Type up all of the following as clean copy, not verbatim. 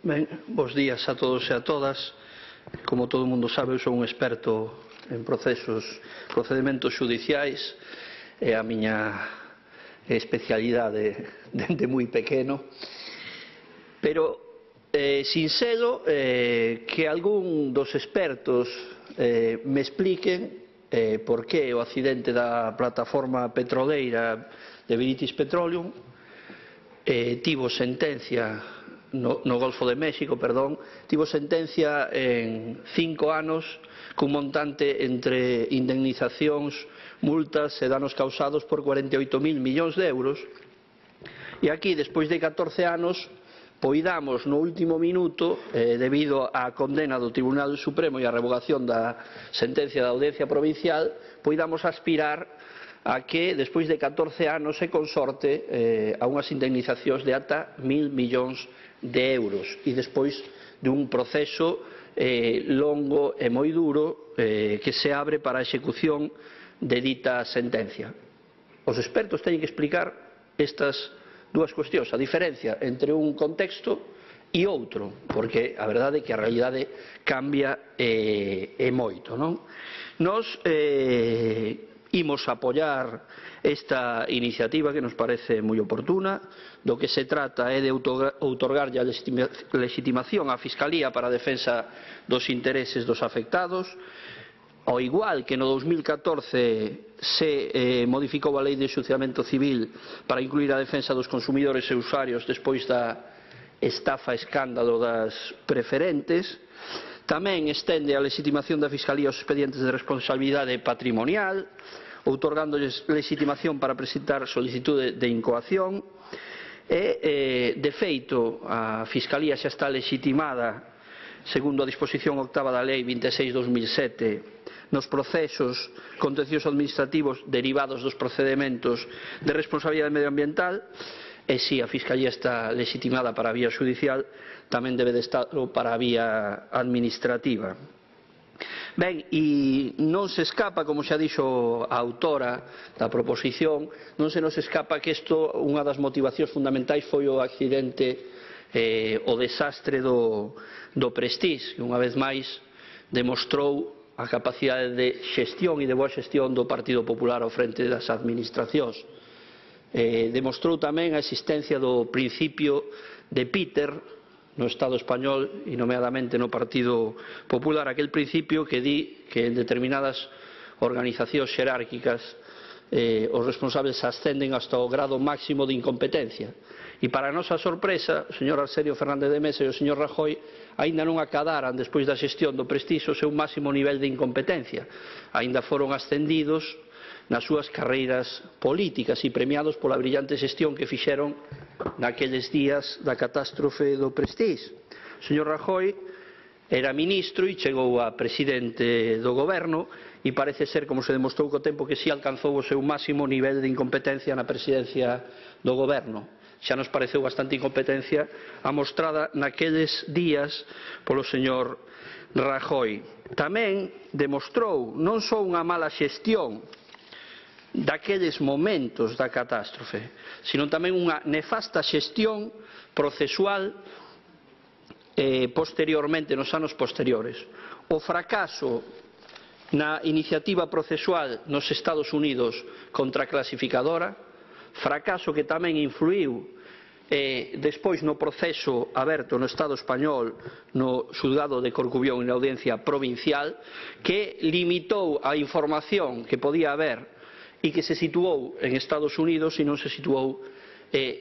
Ben, bos días a todos e a todas. Como todo o mundo sabe, eu sou un experto en procedementos xudiciais. É a miña especialidade dende moi pequeno. Pero sincedo que algún dos expertos me expliquen por que o accidente da plataforma petroleira de British Petroleum tivo sentencia no Golfo de México, tivo sentencia en 5 anos cun montante entre indemnizacións, multas e danos causados por 48.000 millóns de euros. E aquí, despois de 14 anos, poidamos no último minuto, debido á condena do Tribunal Supremo e á revogación da sentencia da Audiencia Provincial, poidamos aspirar a que, despois de 14 anos, se consorte a unhas indemnizacións de ata 1.000 millóns de euros e despois dun proceso longo e moi duro que se abre para a execución de dita sentencia. Os expertos teñen que explicar estas dúas cuestións, a diferencia entre un contexto e outro, porque a verdade é que a realidade cambia e moito, non? Nos imos apoiar esta iniciativa que nos parece moi oportuna. Do que se trata é de outorgarlle a legitimación á Fiscalía para a defensa dos intereses dos afectados. Ao igual que no 2014 se modificou a Lei de Enxuiciamento Civil para incluir a defensa dos consumidores e usuarios despois da estafa escándalo das preferentes, tamén estende a legitimación da Fiscalía aos expedientes de responsabilidade patrimonial, outorgándoles legitimación para presentar solicitude de incoación e, de feito, a Fiscalía xa está legitimada segundo a disposición octava da Lei 26/2007 nos procesos contenciosos administrativos derivados dos procedementos de responsabilidade medioambiental. E se a Fiscalía está legitimada para a vía xudicial, tamén debe de estarlo para a vía administrativa. Ben, e non se escapa, como xa dixo a autora da proposición, non se nos escapa que isto, unha das motivacións fundamentais foi o accidente, o desastre do Prestige, que unha vez máis demostrou a capacidade de xestión e de boa xestión do Partido Popular ao frente das administracións. Demostrou tamén a existencia do principio de Peter no Estado español e nomeadamente no Partido Popular, aquel principio que di que en determinadas organizacións xerárquicas os responsables ascenden hasta o grado máximo de incompetencia. E para a nosa sorpresa, o señor Arsenio Fernández de Mesa e o señor Rajoy aínda non acadaran, despois da xestión do Prestige, o seu máximo nivel de incompetencia. Aínda foron ascendidos nas súas carreiras políticas e premiados pola brillante xestión que fixeron naqueles días da catástrofe do Prestige. O señor Rajoy era ministro e chegou a presidente do goberno e parece ser, como se demostrou co tempo, que si alcanzou o seu máximo nivel de incompetencia na presidencia do goberno. Xa nos pareceu bastante incompetencia amostrada naqueles días polo señor Rajoy. Tamén demostrou non só unha mala xestión daqueles momentos da catástrofe, sino tamén unha nefasta xestión procesual posteriormente, nos anos posteriores. O fracaso na iniciativa procesual nos Estados Unidos contra a clasificadora, fracaso que tamén influiu despois no proceso aberto no Estado español no xulgado de Corcubión e na Audiencia Provincial, que limitou a información que podía haber e que se situou en Estados Unidos e non se situou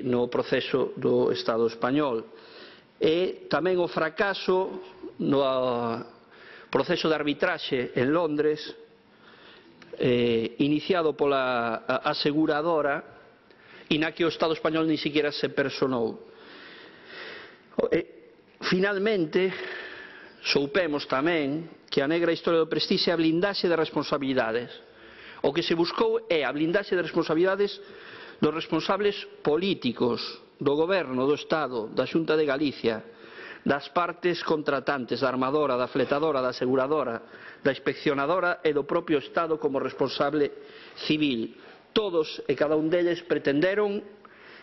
no proceso do Estado español. E tamén o fracaso no proceso de arbitraxe en Londres, iniciado pola aseguradora e na que o Estado español ni siquiera se personou. Finalmente, soupemos tamén que a negra historia do Prestige é a blindaxe de responsabilidades. O que se buscou é a blindaxe de responsabilidades dos responsables políticos do Goberno do Estado, da Xunta de Galicia, das partes contratantes, da armadora, da fletadora, da aseguradora, da inspeccionadora e do propio Estado como responsable civil. Todos e cada un deles pretenderon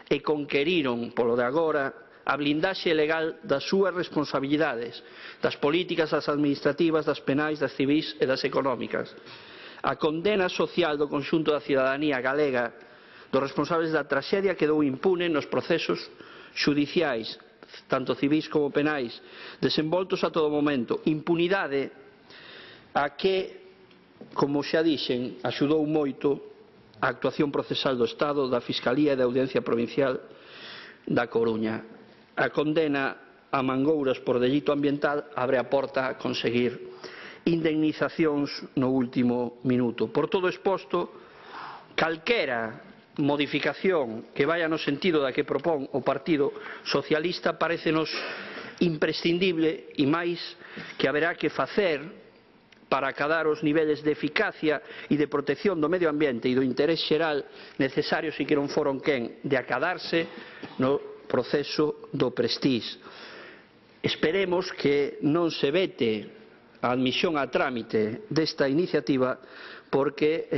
e conqueriron, polo de agora, a blindaxe legal das súas responsabilidades, das políticas, das administrativas, das penais, das civís e das económicas. A condena social do conxunto da cidadanía galega dos responsables da traxedia quedou impune nos procesos xudiciais, tanto civís como penais, desenvoltos a todo momento. Impunidade a que, como xa dixen, axudou moito a actuación procesal do Estado, da Fiscalía e da Audiencia Provincial da Coruña. A condena a Mangouras por delito ambiental abre a porta a conseguir indemnizacións no último minuto. Por todo exposto, calquera modificación que vaya no sentido da que propón o Partido Socialista parécenos imprescindible e máis que haberá que facer para acadar os niveles de eficacia e de protección do medio ambiente e do interés xeral necesarios e que non foron quen de acadarse no proceso do Prestige. Esperemos que non se vete a admisión a trámite desta iniciativa porque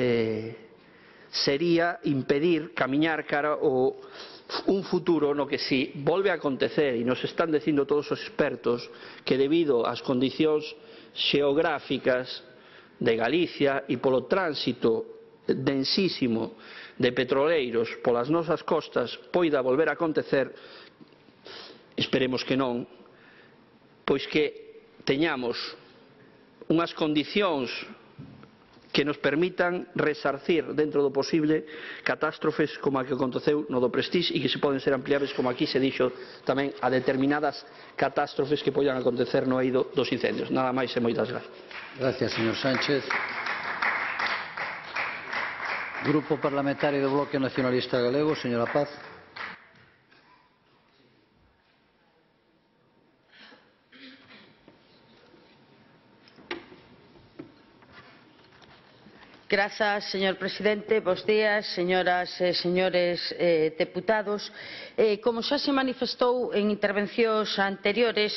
sería impedir camiñar cara ao un futuro no que si volve a acontecer, e nos están dicindo todos os expertos que debido ás condicións xeográficas de Galicia e polo tránsito densísimo de petroleiros polas nosas costas poida volver a acontecer, esperemos que non, pois que teñamos unhas condicións que nos permitan resarcir dentro do posible catástrofes como a que aconteceu no do Prestige e que se poden ser ampliables, como aquí se dixo tamén, a determinadas catástrofes que poidan acontecer no eido dos incendios. Nada máis e moitas gracias. Gracias, señor Sánchez. Grupo Parlamentario do Bloque Nacionalista Galego, señora Paz. Grazas, señor presidente. Bos días, señoras e señores deputados. Como xa se manifestou en intervencións anteriores,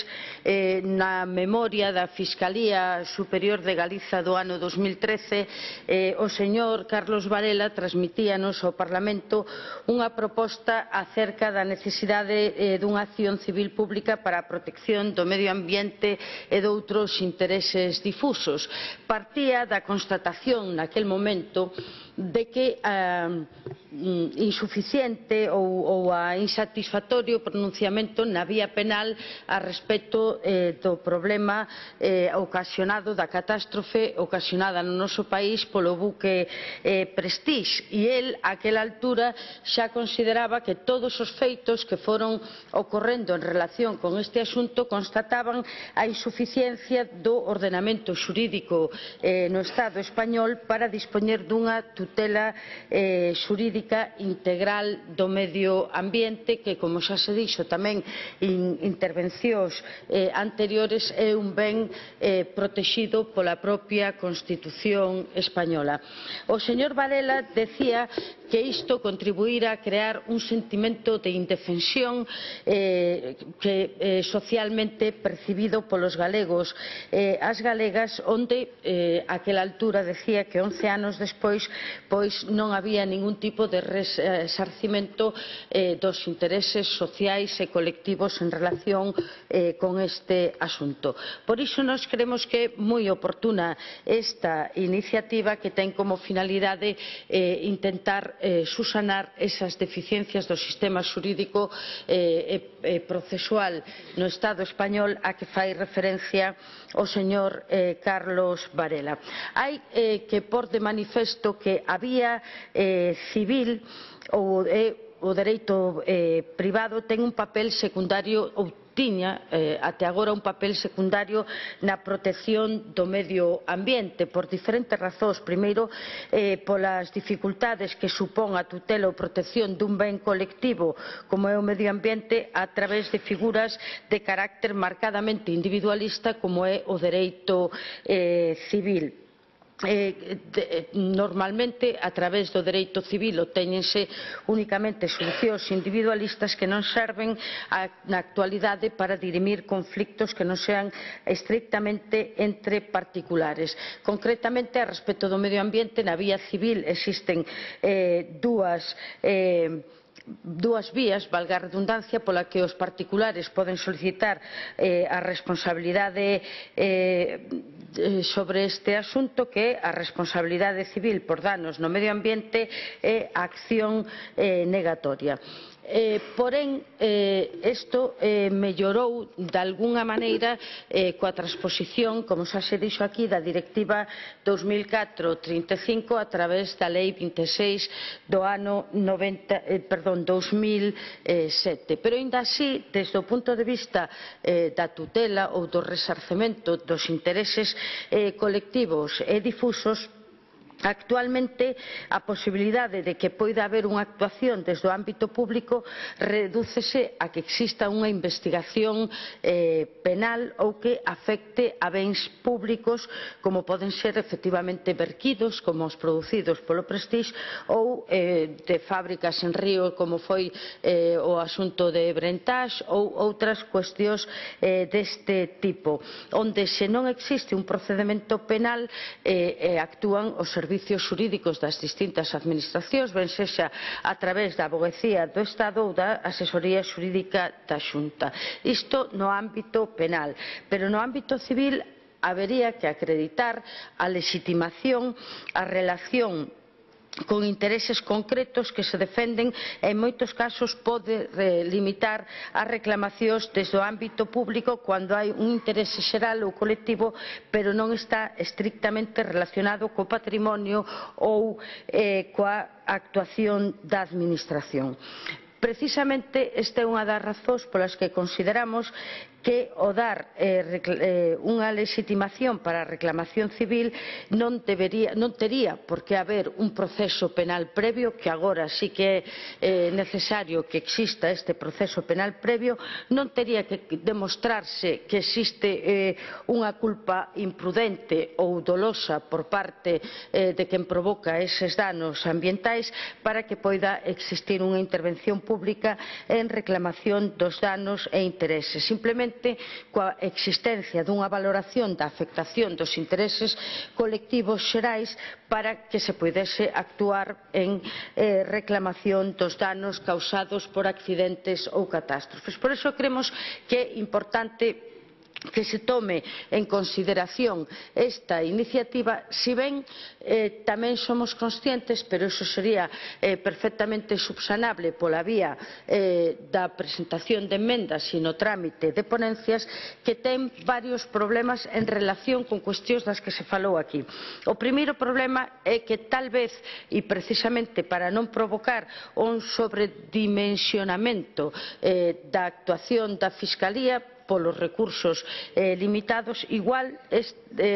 na memoria da Fiscalía Superior de Galiza do ano 2013, o señor Carlos Varela transmitíanos ao Parlamento unha proposta acerca da necesidade dunha acción civil pública para a protección do medio ambiente e doutros intereses difusos. Partía da constatación naquel momento de que insuficiente ou a insatisfactorio pronunciamento na vía penal a respecto do problema ocasionado da catástrofe ocasionada no noso país polo buque Prestige, e el àquela altura xa consideraba que todos os feitos que foron ocorrendo en relación con este asunto constataban a insuficiencia do ordenamento xurídico no Estado español para dispoñer dunha tutela xurídica integral do medio ambiente que, como xa se dixo tamén en intervencións anteriores, é un ben protexido pola propia Constitución española. O señor Varela decía que isto contribuíra a crear un sentimento de indefensión socialmente percibido polos galegos as galegas, onde àquela altura decía que 11 anos despois pois non había ningún tipo de resarcimento dos intereses sociais e colectivos en relación con este asunto. Por iso nós creemos que é moi oportuna esta iniciativa que ten como finalidade intentar susanar esas deficiencias do sistema xurídico e procesual no Estado español a que fai referencia o señor Carlos Varela. Hai que pôr de manifesto que a vía civil ou o dereito privado ten un papel secundario ou tiña até agora un papel secundario na protección do medio ambiente por diferentes razóns. Primeiro, polas dificultades que supón a tutela ou protección dun ben colectivo como é o medio ambiente a través de figuras de carácter marcadamente individualista como é o dereito civil. Normalmente a través do dereito civil obtéñense únicamente solucións individualistas que non serven na actualidade para dirimir conflictos que non sean estrictamente entre particulares. Concretamente, a respecto do medio ambiente, na vía civil existen dúas dúas vías, valga a redundancia, pola que os particulares poden solicitar a responsabilidade sobre este asunto, que é a responsabilidade civil por danos no medio ambiente e a acción negatoria. Porén, isto mellorou de algunha maneira coa transposición, como xa se dixo aquí, da Directiva 2004/35 a través da Lei 26 do ano 2007. Pero, aínda así, desde o punto de vista da tutela ou do resarcemento dos intereses colectivos e difusos, actualmente a posibilidade de que poida haber unha actuación desde o ámbito público redúcese a que exista unha investigación penal ou que afecte a bens públicos, como poden ser efectivamente verquidos, como os producidos polo Prestige, ou de fábricas en río, como foi o asunto de Brentage, ou outras cuestións deste tipo, onde se non existe un procedemento penal actúan os servizos xurídicos das distintas administracións, ben sexa a través da Avogacía do Estado ou da Asesoría Xurídica da Xunta. Isto no ámbito penal, pero no ámbito civil habería que acreditar a lexitimación, a relación con intereses concretos que se defenden e en moitos casos pode limitar as reclamacións desde o ámbito público cando hai un interese xeral ou colectivo, pero non está estrictamente relacionado co patrimonio ou coa actuación da administración. Precisamente esta é unha das razóns polas que consideramos que o dar unha lexitimación para a reclamación civil non tería por que haber un proceso penal previo, que agora sí que é necesario que exista este proceso penal previo, non tería que demostrarse que existe unha culpa imprudente ou dolosa por parte de quen provoca eses danos ambientais para que poida existir unha intervención pública en reclamación dos danos e intereses. Simplemente coa existencia dunha valoración da afectación dos intereses colectivos xerais para que se poidese actuar en reclamación dos danos causados por accidentes ou catástrofes. Por iso cremos que é importante que se tome en consideración esta iniciativa, si ben tamén somos conscientes, pero iso sería perfectamente subsanable pola vía da presentación de emendas e no trámite de ponencias, que ten varios problemas en relación con cuestións das que se falou aquí. O primeiro problema é que tal vez, e precisamente para non provocar un sobredimensionamento da actuación da Fiscalía polos recursos limitados, igual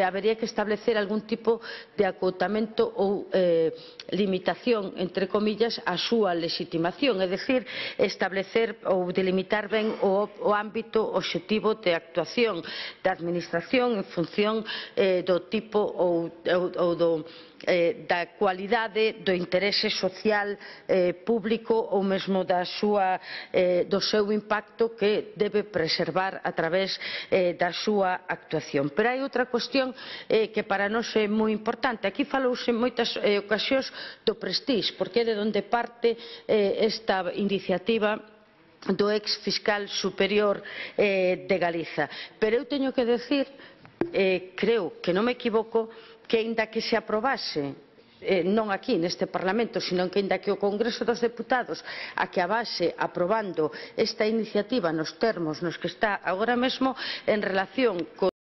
habería que establecer algún tipo de acotamento ou limitación, entre comillas, a súa lexitimación, é dicir, establecer ou delimitar ben o ámbito obxectivo de actuación da Administración en función do tipo ou da cualidade do interese social público ou mesmo do seu impacto que debe preservar a través da súa actuación. Pero hai outra cuestión que para nós é moi importante. Aquí falouse en moitas ocasións do Prestige, porque é de onde parte esta iniciativa do ex fiscal superior de Galiza. Pero eu teño que decir, creo que non me equivoco, que aínda que se aprobase non aquí neste Parlamento, sino que aínda que o Congreso dos Deputados acabase aprobando esta iniciativa nos termos nos que está agora mesmo, en relación con